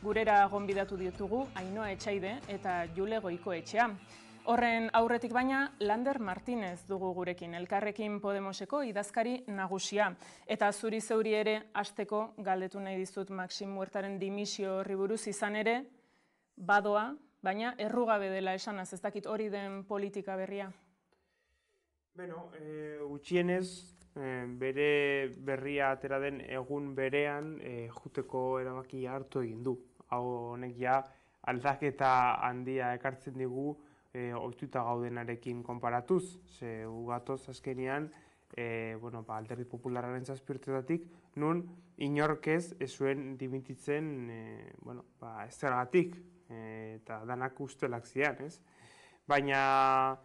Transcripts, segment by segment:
Gurera gonbidatu ditugu Ainhoa Etxaide eta Jule Goikoetxea. Horren aurretik baina Lander Martinez dugu gurekin, Elkarrekin Podemoseko idazkari nagusia. Eta zuri zeuri ere hasteko galdetu nahi dizut Maxim Huertaren dimisio horri buruz izan ere, badoa, baina errugabe dela esanaz, ez dakit hori den politika berria? Beno, gutxienez, bere berria atera den egun berean juteko erabakia hartu egin du. Hau honek ja aldaketa handia ekartzen digu ohituta gaudenarekin konparatuz. Ze gatoz azkenean Alderdi Popularraren 7 urtetatik nun inorkez ez zuen dimititzen ez zergatik eta danak ustelak zian, ez? Baina,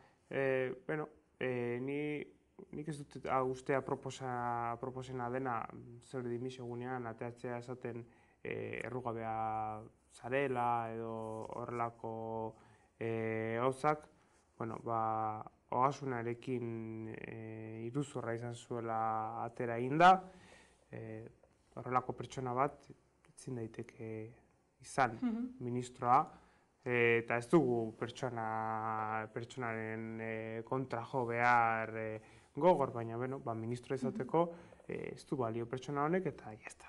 nik ez dut ustea proposena dena zer dimisio gunean ateatzea esaten errugabea zarela edo horrelako gauzak, ogasunarekin iruzurra izan zuela atera inda, horrelako pertsona bat ezin daiteke izan ministroa, eta ez dugu pertsonaren kontra jo behar gogor, baina ministro izateko ez du balio pertsona honek eta jazta.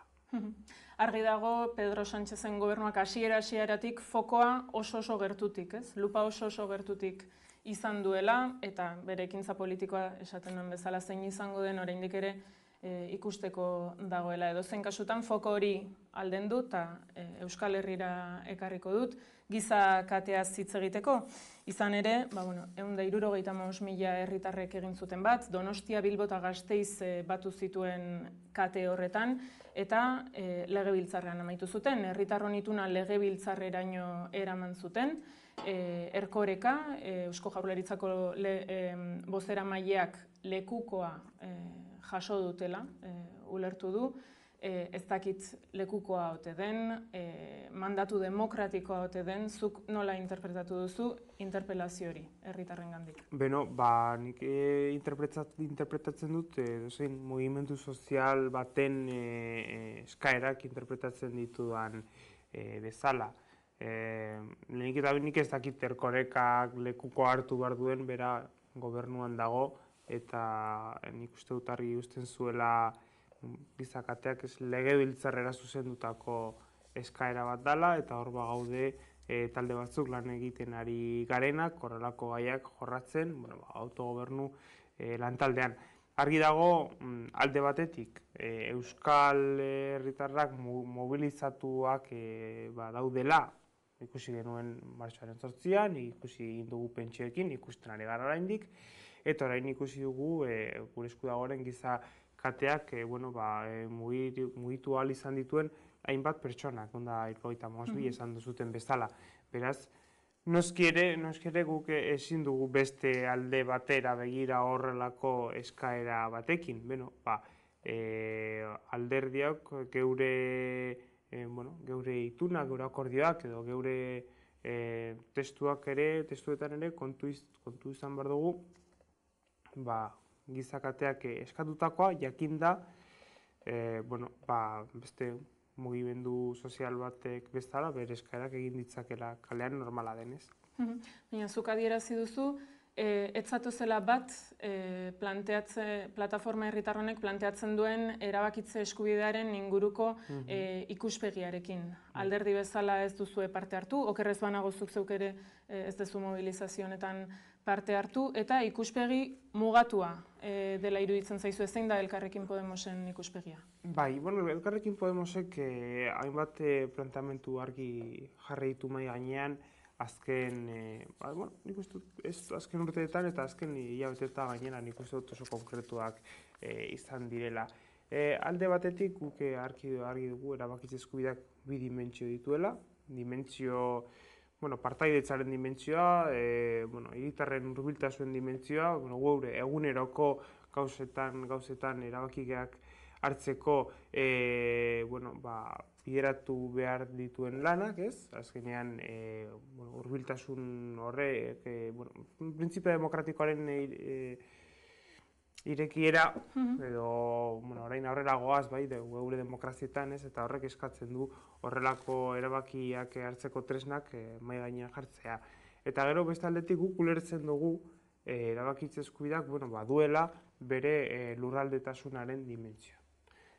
Argi dago Pedro Sánchezen gobernuak hasieratik fokoa oso gertutik, ez? Lupa oso gertutik izan duela eta bere ekintza politikoa esaten duen bezala zein izango den oraindik ere ikusteko dagoela. Edozein kasutan foko hori aldendu eta Euskal Herrira ekarriko dut giza kateaz hitz egiteko. Izan ere, 175.000 herritarrek egin zuten bat, Donostia, Bilbo eta Gasteiz batu zituen kate horretan eta legebiltzarrean amaitu zuten. Herritarron ituna legebiltzarreraino eraman zuten. Erkoreka, Eusko Jaurlaritzako bozeramaileak lekukoa jaso dutela, ulertu du, ez dakit lekukoa ote den, mandatu demokratikoa ote den, zuk nola interpretatu duzu interpelazio hori herritarrengandik? Nik interpretatzen dut zein mugimendu sozial baten eskaerak interpretatzen ditudan bezala. Lehenik eta nik ez dakit Erkorekak lekuko hartu behar duen bera gobernuan dago eta nik uste dut argi uzten zuela gizakateak legebiltzarrera zuzendutako eskaera bat dela eta hor gaude talde batzuk lan egiten ari garenak, horrelako gaiak jorratzen, autogobernu lantaldean. Argi dago alde batetik Euskal Herritarrak mobilizatuak daudela, ikusi genuen martxoaren 8an, ikusi egin dugu pentsioekin, ikusten ari gara oraindik, eta orain ikusi dugu gure esku dagoen giza kateak mugitu ahal izan dituen hainbat pertsonak, 75.000 esan duzuten bezala. Beraz, noski ere guk ezin dugu beste alde batera begira horrelako eskaera batekin. Alderdiak geure ituna, geure akordioak edo geure testuetan ere kontu izan behar dugu gizakateak eskatutakoa jakinda beste mugimendu sozial batek bezala bere eskaerak egin ditzakela kalean normala denez. Baina zuk adierazi duzu, ez zatozela bat plataforma herritarronek planteatzen duen erabakitze eskubidearen inguruko ikuspegiarekin. Alderdi bezala ez duzue parte hartu, okerrez banago zuk zeuk ere ez duzu mobilizazio honetan parte hartu, eta ikuspegi mugatua dela iruditzen zaizu, zein da Elkarrekin Podemosen ikuspegia? Elkarrekin Podemosek hainbat planteamendu argi jarri ditu mahai gainean, azken urteetan eta azken hilabeteetan gainera nik uste dut oso konkretuak izan direla. Alde batetik guk argi dugu erabakitze eskubideak bi dimentsio dituela, partaidetzaren dimentsioa, hiritarren hurbiltasun dimentsioa, gure eguneroko gauzetan erabakiak hartzeko bideratu behar dituen lanak, ez? Azkenean, hurbiltasun horrek, printzipio demokratikoaren irekiera, edo orain aurrera goaz, bai, geure demokrazietan, ez, eta horrek eskatzen du horrelako erabakiak hartzeko tresnak mahai gainean jartzea. Eta gero beste aldetik guk ulertzen dugu erabakitze eskubideak baduela bere lurraldetasunaren dimentsioa.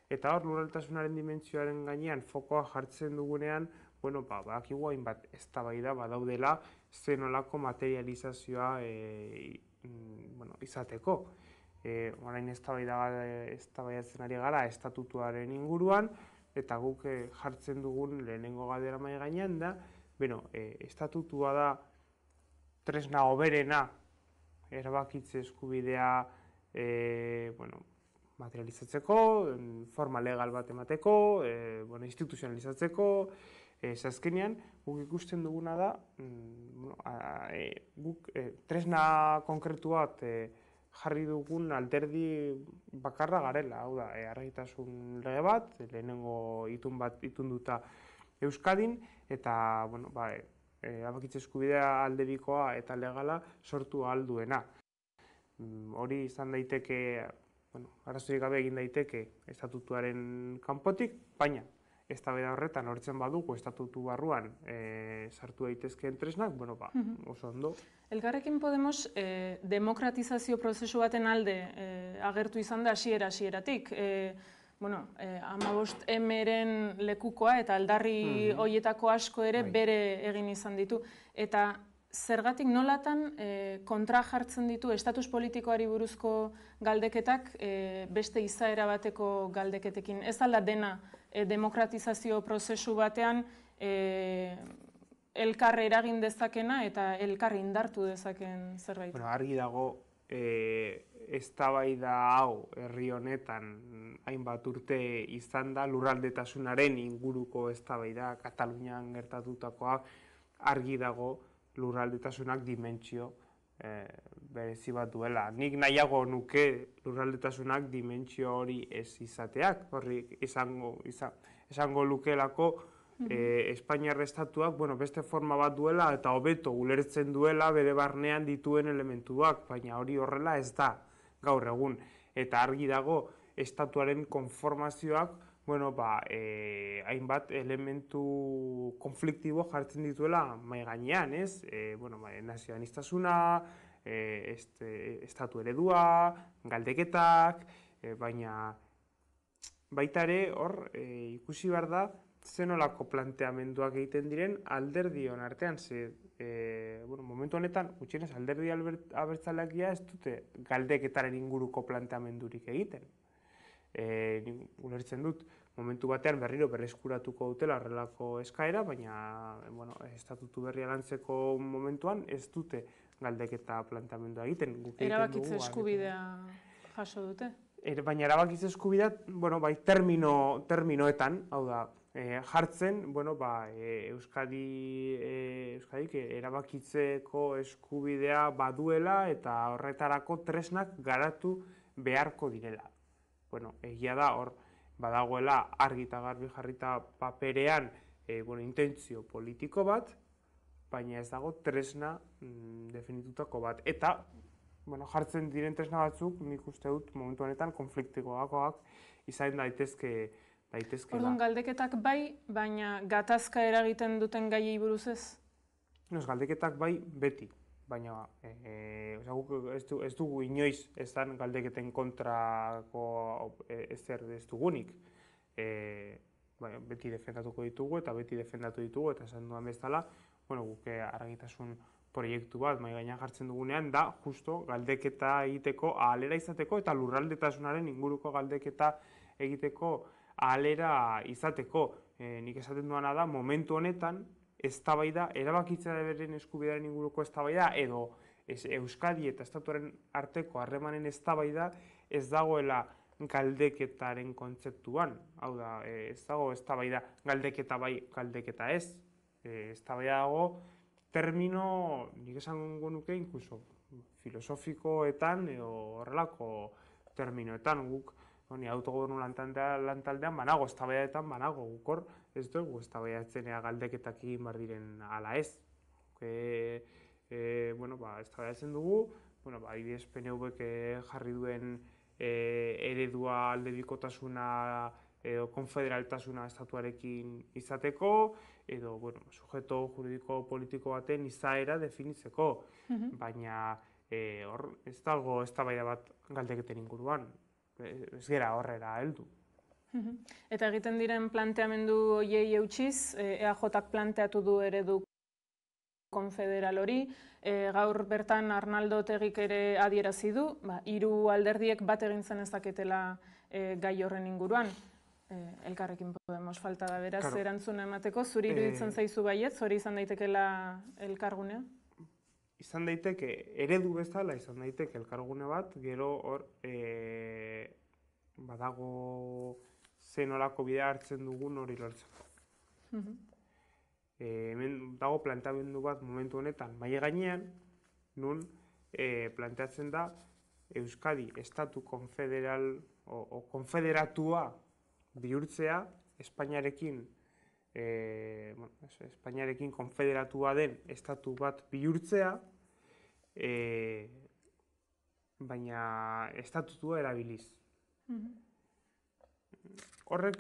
Eta hor lurraldetasunaren dimentsioaren gainean fokoa jartzen dugunean, badakigu hainbat eztabaida badaudela zenolako materializazioa izateko. Orain eztabaidatzen ari gara estatutuaren inguruan, eta guk jartzen dugun lehenengo galdera mahai gainean da, estatutua da tresna hoberena erabakitze eskubidea materializatzeko, forma legal bat emateko, instituzionalizatzeko, azkenean guk ikusten duguna da, guk tresna konkretu bat jarri dugun alderdi bakarra garela, hau da, argitasun lege bat, lehenengo itunduta Euskadin, eta erabakitze eskubidea aldebikoa eta legala sortu ahal duena. Hori izan daiteke, arazorik gabe egin daiteke estatutuaren kanpotik, baina eztabaida horretan hortzen badugu estatutu barruan sartu daitezkeen tresnak, oso ondo. Elkarrekin Podemos demokratizazio prozesu baten alde agertu izan da hasieratik. 15M-ren lekukoa eta aldarri horietako asko ere bere egin izan ditu. Eta zergatik nolatan kontra jartzen ditu estatus politikoari buruzko galdeketak beste izaera bateko galdeketekin. Ez alda dena demokratizazio prozesu batean elkar eragin dezakena eta elkar indartu dezaken zerbait. Argi dago eztabaida hau herri honetan hainbat urte izan da lurraldetasunaren inguruko eztabaida Katalunian gertatutakoa argi dago lurraldetasunak dimentsio berezi bat duela. Nik nahiago nuke lurraldetasunak dimentsio hori ez izateak, horrik esango lukelako Espainiar estatuak beste forma bat duela eta hobeto ulertzen duela bere barnean dituen elementuak, baina hori horrela ez da gaur egun. Eta argi dago estatuaren konformazioak hainbat elementu konfliktibo jartzen dituela mahai gainean, ez? Nazionalistasuna, estatu eredua, galdeketak, baina baita ere hor ikusi behar da zenolako planteamenduak egiten diren alderdion artean, momentu honetan, gutxienez alderdi abertzaleak ez dute galdeketaren inguruko planteamendurik egiten. Ulertzen dut, momentu batean berriro berreskuratuko dutela horrelako eskaera, baina estatutu berria lantzeko momentuan ez dute galdeketa planteamendua egiten. Erabakitze eskubidea jaso dute? Baina erabakitze eskubidea, terminoetan, hau da, jartzen, Euskadik erabakitzeko eskubidea baduela eta horretarako tresnak garatu beharko direla. Egia da, hor badagoela argi eta garbi jarrita paperean intentzio politiko bat, baina ez dago tresna definitutako bat. Eta jartzen diren tresna batzuk, nik uste dut momentu honetan konfliktikoakoak izan daitezke. Orduan galdeketak bai, baina gatazka eragiten duten gaiei buruz ez? Galdeketak bai beti. Baina ez dugu inoiz ezan galdeketen kontrako ezer ez dugunik. Beti defendatuko ditugu eta beti defendatu ditugu eta esan duan bezala, guk argitasun proiektu bat mahai gainean jartzen dugunean da justo galdeketa egiteko ahalera izateko eta lurraldetasunaren inguruko galdeketa egiteko ahalera izateko. Nik esaten duana da momentu honetan eztabaida, erabakitzearen eskubidearen inguruko eztabaida edo Euskadi eta estatuaren arteko harremanen eztabaida ez dagoela galdeketaren kontzeptuan. Hau da, ez dago eztabaida galdeketa bai, galdeketa ez. Eztabaida dago termino, nik esango nuke, inkluso filosofikoetan edo horrelako terminoetan guk autogobernu lantaldean banago, eztabaidaetan banago, gukor ez dugu eztabaidatzen galdeketak egin behar diren ala ez. Eztabaidatzen dugu, adibidez PNV-ek jarri duen eredua aldebikotasuna edo konfederaltasuna estatuarekin izateko, edo sujeto juridiko politiko baten izaera definitzeko. Baina hor ez dago eztabaida bat galdeketen inguruan, ez gera horrera heldu. Eta egiten diren planteamendu horiei eutsiz, EAJak planteatu du eredu konfederal hori, gaur bertan Arnaldo Otegik ere adierazi du, 3 alderdiek bat egin zen ezaketela gai horren inguruan. Elkarrekin Podemos falta da beraz erantzuna emateko, zuri iruditzen zaizu baietz, hori izan daitekela elkargunea? Izan daiteke, eredu bezala izan daiteke elkargune bat, gero hor badago zenolako bidea hartzen dugun hori lortzeko. Hemen dago planteamendu bat momentu honetan maila gainean, nun planteatzen da Euskadi estatu konfederal o konfederatua bihurtzea Espainiarekin Espainiarekin konfederatua den estatu bat bihurtzea, baina estatutua erabiliz. Horrek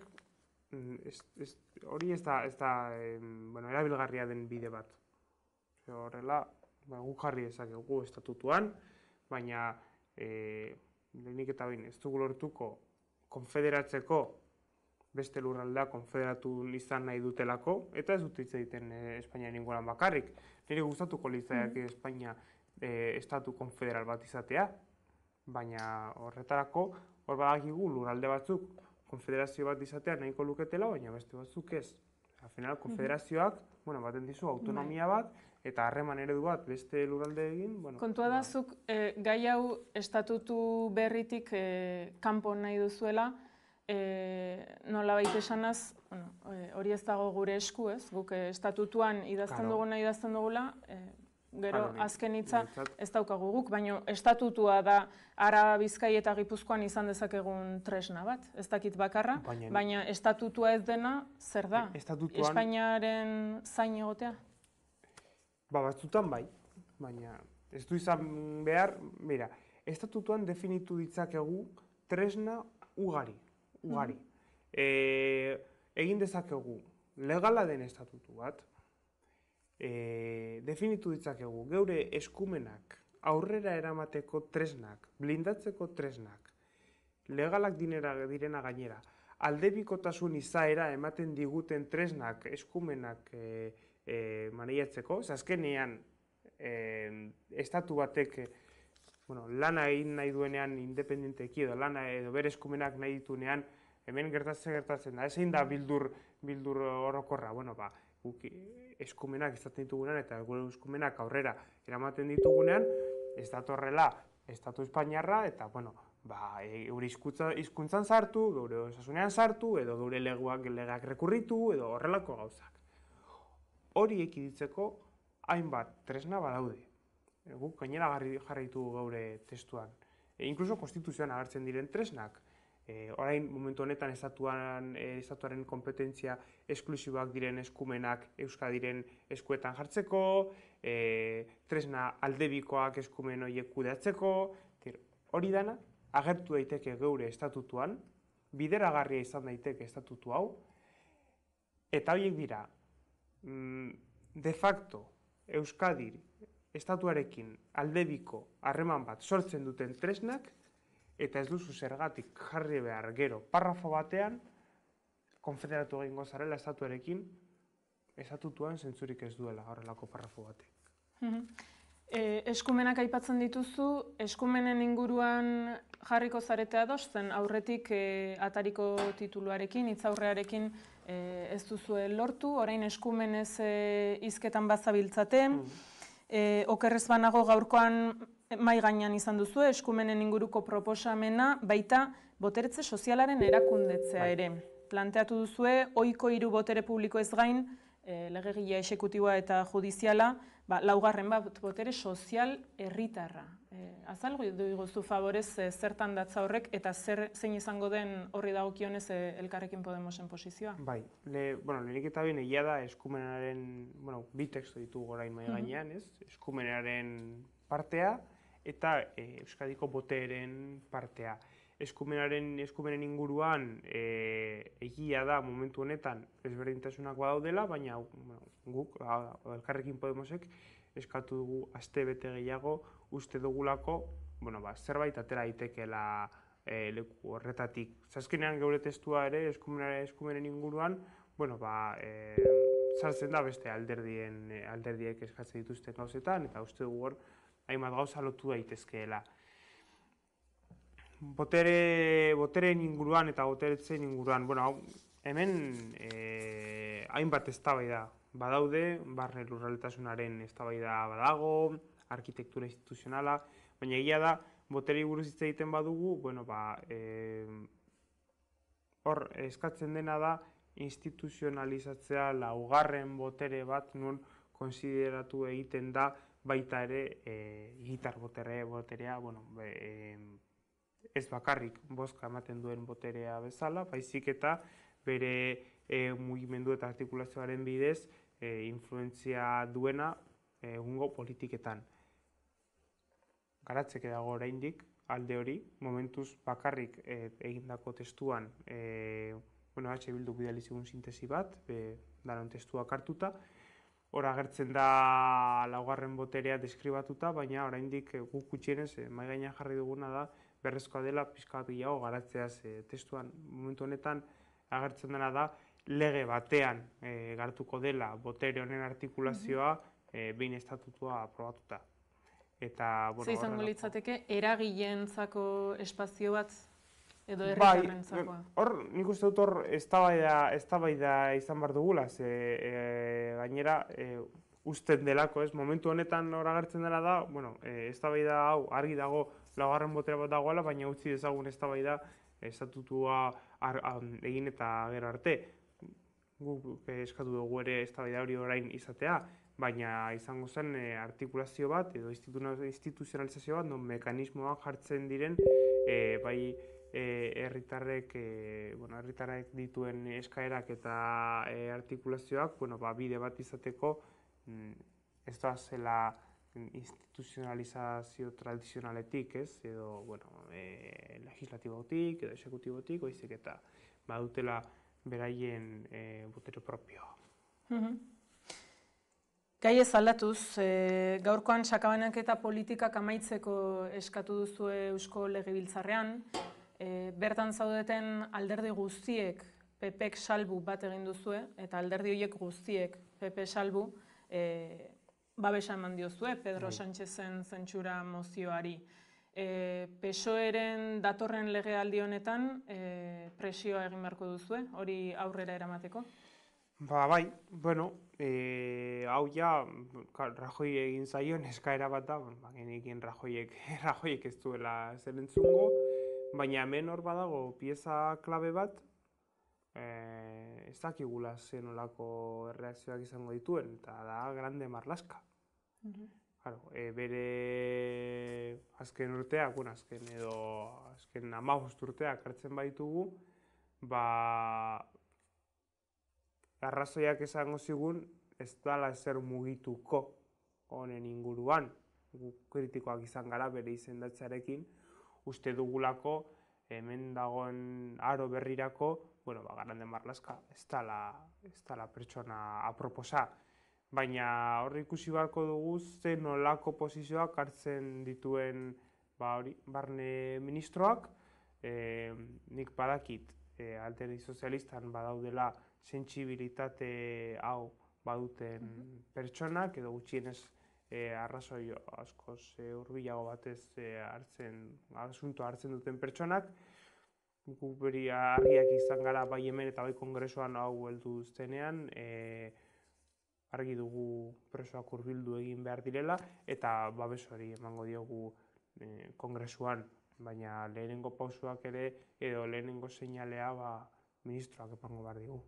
hori ez da erabilgarria den bide bat. Horrela, guk jarri dezakegu estatutuan, baina lehenik eta behin ez dugu lortuko konfederatzeko beste lurraldea konfederatu izan nahi dutelako, eta ez dut hitz egiten Espainiaren inguruan bakarrik. Nire gustatuko litzaiake Espainia estatu konfederal bat izatea, baina horretarako hor badakigu lurralde batzuk konfederazio bat izatea nahiko luketela, baina beste batzuk ez. Al final, konfederazioak baten dizu autonomia bat, eta harreman eredu bat beste lurralde egin. Kontua da, zuk gai hau estatutu berritik kanpo nahi duzuela, nolabait esanaz, hori ez dago gure esku, ez? Guk estatutuan idazten dugula, gero azken hitza ez daukagu guk, baina estatutua da Araba, Bizkai eta Gipuzkoan izan dezakegun tresna bat, ez dakit bakarra, baina estatutua ez dena, zer da? Espainiaren zain egotea? Batzutan bai, baina ez du izan behar, estatutuan definitu ditzakegu tresna ugari. Egin dezakegu legala den estatutu bat, definitu ditzakegu geure eskumenak aurrera eramateko tresnak, blindatzeko tresnak, legalak direna gainera, aldebikotasun izaera ematen diguten tresnak, eskumenak maneiatzeko, azkenean estatu batek lana egin nahi duenean independenteki edo lana edo bere eskumenak nahi dituenean, hemen gertatzen da, ezein da bildur orokorra, guk eskumenak izaten ditugunean eta gure eskumenak aurrera eramaten ditugunean, ez datorrela estatu espainiarra eta, geure hizkuntzan sartu, geure osasunean sartu, edo geure legeak rekurritu, edo horrelako gauzak. Hori ekiditzeko hainbat tresna badaude. Guk gainera jarraitu gaure testuan. Inkluso konstituzioan agertzen diren tresnak. Orain momentu honetan estatuaren kompetentzia esklusiboak diren eskumenak Euskadiren eskuetan jartzeko, tresna aldebikoak eskumen horiek kudeatzeko, hori dana agertu daiteke geure estatutuan, bideragarria izan daiteke estatutu hau, eta horiek dira, de facto Euskadir estatuarekin aldebiko harreman bat sortzen duten tresnak, eta ez duzu zergatik jarri behar gero parrafo batean konfederatu egingo zarela estatuarekin, estatutuan zentzurik ez duela horrelako parrafo batek. Eskumenak aipatzen dituzu, eskumenen inguruan jarriko zarete ados zen aurretik atariko tituluarekin, hitzaurrearekin ez duzue lortu, orain eskumenez hizketan bazabiltzate, okerrez banago gaurkoan mai gainean izan duzu, eskumenen inguruko proposamena, baita boteretze sozialaren erakundetzea ere. Planteatu duzue, ohiko 3 botere publiko ez gain, legegilea exekutiboa eta judiziala, laugarren botere sozial herritarra. Azalgo dugu favorez zertan datza horrek eta zein izango den horri dagokionez Elkarrekin Podemosen posizioa? Bai, lehenik eta behin egia da eskumenaren, bi tekstu ditugu orain mahai gainean, eskumenaren partea eta Euskadiko boteren partea. eskumenen inguruan egia da momentu honetan ezberdintasunak badaudela, baina guk, Elkarrekin Podemosek, eskatu dugu aste bete gehiago uste dugulako zerbait atera daitekeela leku horretatik. Azkenean geure testua ere eskumenen inguruan sartzen da beste alderdiek eskatzen dituzten gauzetan, eta uste dugu hor hainbat gauza lotu daitezkeela. Botereen inguruan eta boteretzen inguruan, hemen hainbat eztabaida badaude, barne lurraldetasunaren eztabaida badago, arkitektura instituzionala, baina egia da, boterei buruz hitz egiten badugu, hor eskatzen dena da instituzionalizatzea laugarren botere bat non konsideratu egiten da baita ere hiritar boterea, ez bakarrik bozka ematen duen boterea bezala, baizik eta bere mugimendu eta artikulazioaren bidez influentzia duena egungo politiketan. Garatzeke dago oraindik alde hori, momentuz bakarrik egindako testuan H. Bilduk bidali zigun sintesi bat, danon testuak hartuta, hor agertzen da laugarren boterea deskribatuta, baina oraindik guk gutxienez mahai gainean jarri duguna da berrezkoa dela pixka bat gehiago garatzeaz testuan. Momentu honetan agertzen dena da lege batean garatuko dela botere honen artikulazioa behin estatutua aprobatuta. Ze izango litzateke eragileentzako espazio bat edo herritarrentzakoa? Hor, nik uste dut hor eztabaida izan behar dugula, gainera usten delako, momentu honetan hor agertzen dela da, eztabaida hau argi dago laugarren botere bat dagoela, baina utzi dezagun eztabaida estatutua egin eta gero arte. Guk eskatu dugu ere eztabaida hori orain izatea, baina izango zen artikulazio bat edo instituzionalizazio bat, non mekanismoak jartzen diren bai herritarrek dituen eskaerak eta artikulazioak bide bat izateko ez da zela instituzionalizazio tradizionaletik, edo legislatibotik edo exekutibotik, baizik eta badutela beraien botere propioa. Gai ez aldatuz, gaurkoan sakabanak eta politikak amaitzeko eskatu duzue Eusko Legebiltzarrean, bertan zaudeten alderdi guztiek PPek salbu bat egin duzue, eta alderdi horiek guztiek PP salbu babesa eman diozue Pedro Sánchezen zentsura mozioari. PSOEren datorren legealdi honetan presioa egin beharko duzue, hori aurrera eramateko? Bai, hau ja Rajoy egin zaion eskaera bat da, genekin Rajoyek ez duela zer entzungo, baina hemen hor badago pieza klabe bat, ez dakigula zen olako erreakzioak izango dituen, eta da Grande Marlaska. Bere azken urteak, azken 15 urteak hartzen baitugu, arrazoiak esango zigun ez dala ezer mugituko honen inguruan. Guk kritikoak izan gara bere izendatzearekin, uste dugulako hemen dagoen aro berrirako, Grande Marlaska ez dala pertsona aproposa. Baina hor ikusi beharko dugu ze nolako posizioak hartzen dituen barne ministroak. Nik badakit alderdi sozialistan badaudela sentsibilitate hau baduten pertsonak, edo gutxienez arrazoi askoz hurbilago batez asuntoa hartzen duten pertsonak. Guk beri argiak izan gara bai hemen eta bai kongresuan hau heldu zenean, argi dugu presoak hurbildu egin behar direla, eta babes hori emango diogu kongresuan, baina lehenengo pausuak ere, edo lehenengo seinalea ministroak emango behar digu.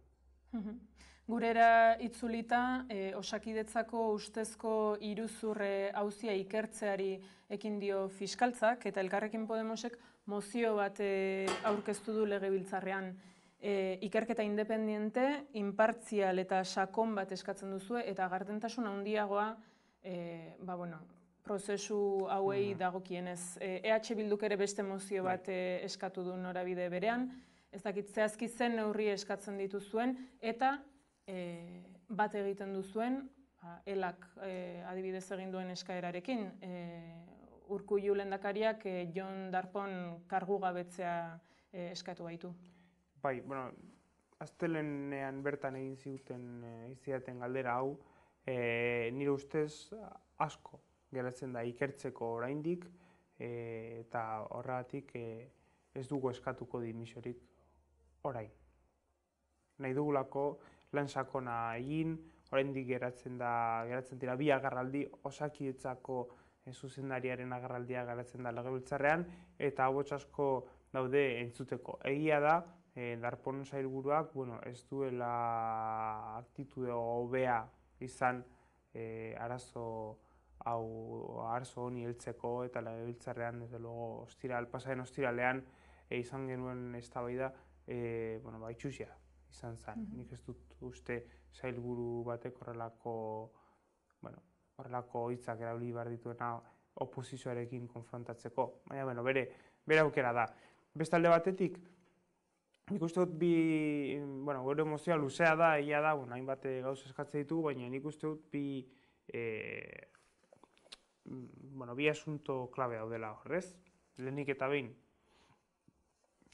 Gurera itzulita, Osakidetzako ustezko iruzurre auzia ikertzeari ekin dio fiskaltzak, eta Elkarrekin Podemosek mozio bat aurkeztu du Legebiltzarrean. Ikerketa independiente, inpartzial eta sakon bat eskatzen duzue, eta gardentasun handiagoa prozesu hauei dagokienez. EH Bilduk ere beste mozio bat eskatu du norabide berean, ez dakit zehazki zen neurri eskatzen dituzuen, eta bat egiten duzuen, elak adibidez egin duen eskaerarekin. Urkullu lehendakariak Jon Darpón kargugabetzea eskatu baitu. Bai, bueno, astelehenean bertan egin zidaten galdera hau, nire ustez asko geratzen da ikertzeko oraindik, eta horregatik ez dugu eskatuko dimisiorik orain. Nahi dugulako lan sakona egin, oraindik geratzen dira bi agerraldi, Osakidetzako zuzendariaren agerraldia geratzen da legebiltzarrean, eta ahots asko daude entzuteko. Egia da, Darpón sailburuak ez duela aktitude hobea izan arazo honi heltzeko, eta legebiltzarrean, desde luego, pasaren ostiralean izan genuen eztabaida itsusia izan zen. Nik ez dut uste sailburu batek horrelako hitzak erabili behar dituena oposizioarekin konfrontatzeko. Baina, bere aukera da. Beste alde batetik, nik uste dut gure mozioa luzea da, egia da, hainbat gauz eskatzen ditugu, baina nik uste dut bi asunto klabe daudela horrez. Lehenik eta behin,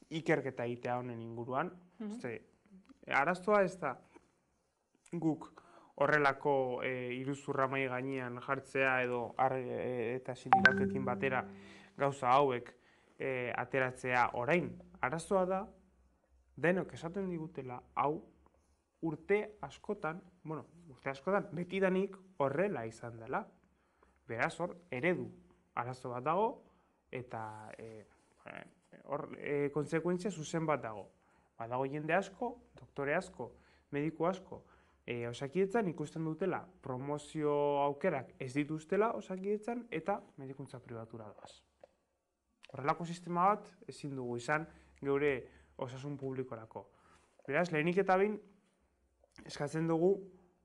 ikerketa egitea honen inguruan. Arazoa ez da guk horrelako iruzurra mahai gainean jartzea eta sindikatekin batera gauza hauek ateratzea orain. Arazoa da, denok esaten digutela, hau urte askotan betidanik horrela izan dela. Beraz, hor, eredu arazo bat dago, eta konsekuentzia zuzen bat dago. Badago jende asko, doktore asko, mediku asko, Osakidetzan ikusten dutela promozio aukerak ez dituztela Osakidetzan eta medikuntza pribatura doaz. Horrelako sistema bat ezin dugu izan geure osasun publikorako. Beraz, lehenik eta behin eskatzen dugu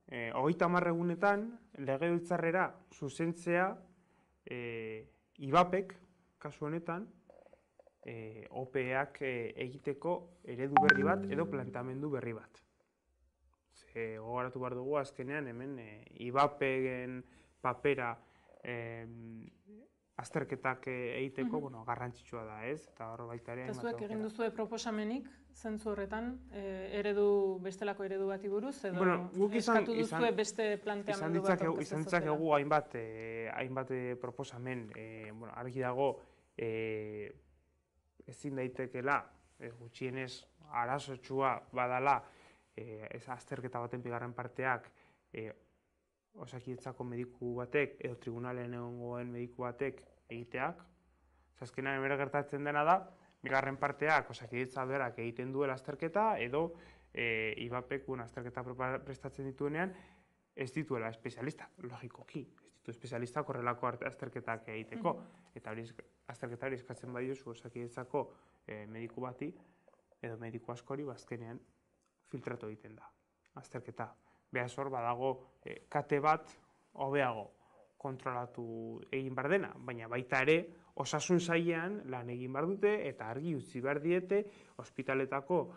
30 egunetan legebiltzarrera zuzentzea IBAPek, kasu honetan, OPEak egiteko eredu berri bat edo planteamendu berri bat. Gogoratu behar dugu azkenean hemen IBAPen papera azterketak egiteko garrantzitsua da, ez? Eta hor baita ere... Zuek egin duzue proposamenik, zentzu horretan, bestelako eredu bati buruz, edo eskatu duzue beste planteamendu bat aurkeztu? Izan ditzakegu hainbat proposamen, argi dago ezin daitekela, gutxienez arazotsua badala, ez azterketa baten bigarren parteak Osakidetzako mediku batek edo tribunalen egongoen mediku batek egiteak. Azkenean bere gertatzen dena da, bigarren parteak Osakidetza berak egiten duela azterketa edo IBAPek azterketa prestatzen dituenean ez dituela espezialista, logikoki. Ez ditu espezialista horrelako azterketak egiteko. Eta azterketa hori eskatzen badiozu Osakidetzako mediku bati edo mediku askori azkenean filtratu egiten da, azterketa. Beraz hor badago kate bat hobeago kontrolatu egin behar dena, baina baita ere osasun sailean lan egin behar dute eta argi utzi behar diete ospitaletako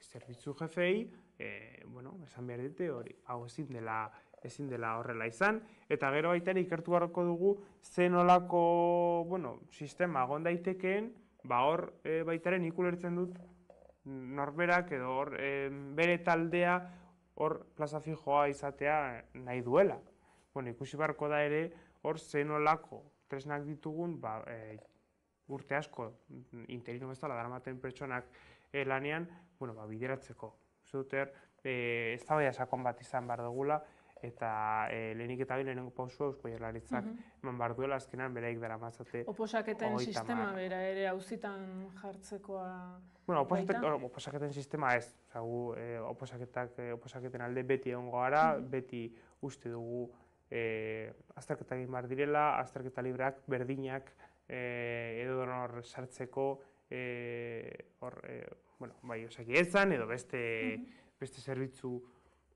zerbitzu jefei, esan behar dute hori, hau ezin dela horrela izan, eta gero baita ere ikertu beharko dugu zen olako sistema egon daitekeen, hor baita ere nik ulertzen dut norberak edo bere taldea hor plaza fijoa izatea nahi duela. Ikusi beharko da ere hor zen olako tresnak ditugun urte asko interino bezala daramaten pertsonak lanean bideratzeko. Uste dut eztabaida sakon bat izan behar dugula eta lehenik eta lehenengo pausua Eusko Jaurlaritzak eman behar duela azkenean beraik daramatzate. Oposaketen sistema bera ere auzitan jartzekoa baita? Oposaketen sistema ez. Oposaketen alde beti egongo gara, beti uste dugu azterketa egin behar direla, azterketa libreak, berdinak, edo donor sartzeko, Osakidetzan edo beste zerbitzu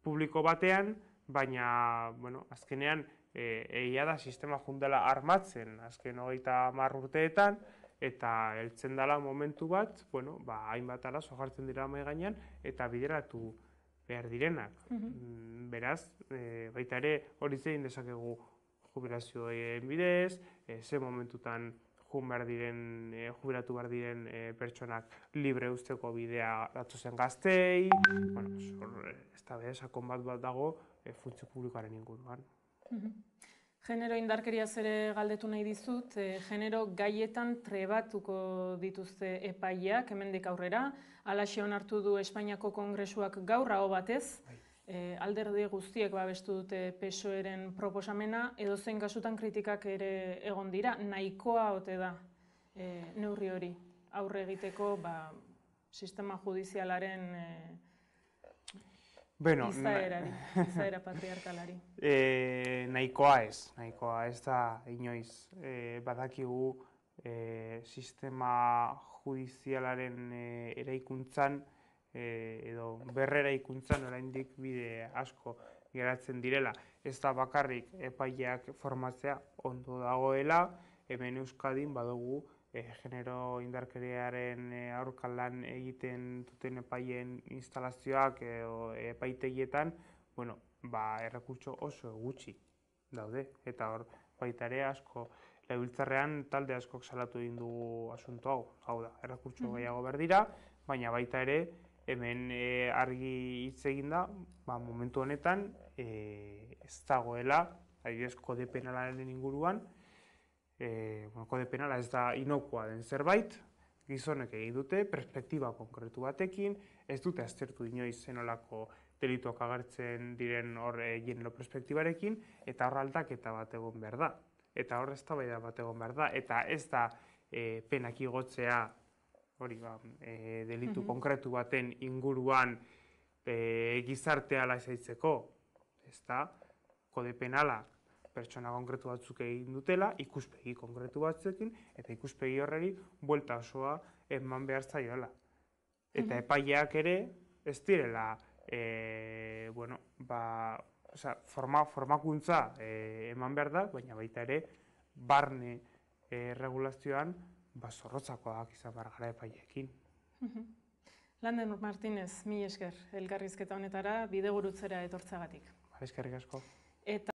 publiko batean, baina azkenean egia da sistema jundela armatzen azken 30 urteetan, eta heltzen dela momentu bat, bueno, hainbat arazo jartzen dira mahai gainean, eta bideratu behar direnak. Beraz, baita ere hori zein dezakegu jubilazioen bidez, ze momentutan jubilatu behar diren pertsonak libre usteko bidea datozen gaztei, ez da sakon bat dago funtzio publikoaren inguruan. Genero indarkeriaz ere galdetu nahi dizut, genero gaietan trebatuko dituzte epaileak hemendik aurrera, halaxe onartu du Espainiako Kongresuak gaur aho batez, alderdi guztiek babestu dute PSOE-ren proposamena, edozein kasutan kritikak ere egon dira, nahikoa ote da neurri hori aurre egiteko sistema judizialaren izaera patriarkalari. Nahikoa ez da inoiz. Badakigu sistema judizialaren eraikuntzan edo berreraikuntzan oraindik bide asko geratzen direla. Ez da bakarrik epaileak formatzea ondo dagoela, hemen Euskadin badugu genero indarkeriaren aurka lan egiten duten epaileen instalazioak edo epaitegietan, errekurtso oso gutxi daude. Eta hor baita ere asko, legebiltzarrean talde askok salatu egin dugu asunto hau. Hau da, errekurtso gehiago behar dira, baina baita ere hemen argi hitz egin da, momentu honetan ez dagoela, adibidez kode penalaren inguruan, kode penala ez da inokua den zerbait, gizonek egin dute, perspektiba konkretu batekin, ez dute aztertu inoiz zenolako delituak agertzen diren hor genero perspektibarekin, eta hor aldaketa bat egon behar da. Eta hor eztabaida bat egon behar da, eta ez da penak igotzea delitu konkretu baten inguruan gizartea lasaitzeko, ez da kode penala pertsona konkretu batzuk egin dutela, ikuspegi konkretu batzuekin, eta ikuspegi horreri buelta osoa eman behar zaiola. Eta epaileak ere ez direla formakuntza eman behar da, baina baita ere barne regulazioan zorrotzakoak izan behar gara epaileekin. Lander Martínez, mila esker elkarrizketa honetara bidegurutzera etortzagatik. Eskerrik asko.